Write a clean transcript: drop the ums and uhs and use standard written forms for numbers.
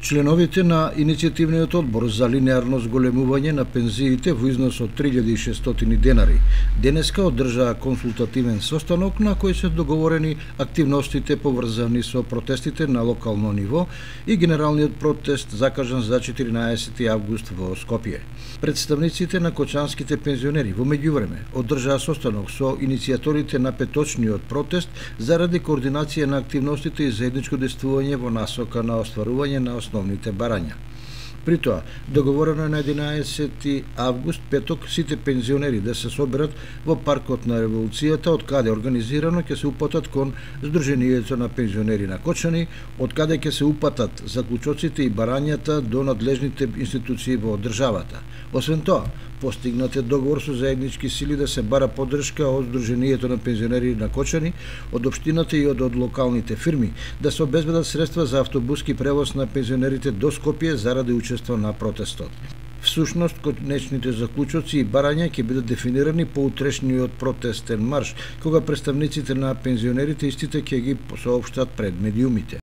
Членовите на иницијативниот одбор за линеарно зголемување на пензиите во износ од 3600 денари денеска одржаа консултативен состанок на кој се договорени активностите поврзани со протестите на локално ниво и генералниот протест закажан за 14 август во Скопје. Представниците на кочанските пензионери во меѓувреме одржаа состанок со иницијаторите на петочниот протест заради координација на активностите и заедничко действување во насока на остварување на основните барања. При тоа, договорено е на 11 август, петок, сите пензионери да се соберат во паркот на Револуцијата, од каде организирано ќе се упатат кон Сдруженијето на пензионери на Кочани, од каде ќе се упатат заклучоците и барањата до надлежните институции во државата. Освен тоа, постигнат е договор со заеднички сили да се бара поддршка од Сдруженијето на пензионери на Кочани, од општината и од локалните фирми, да се обезбедат средства за автобуски превоз на пензионерите до Скопје заради учество на протестот. Всушност, конечните заклучоци и барања ќе бидат дефинирани по утрешниот протестен марш, кога представниците на пензионерите истите ќе ги соопштат пред медиумите.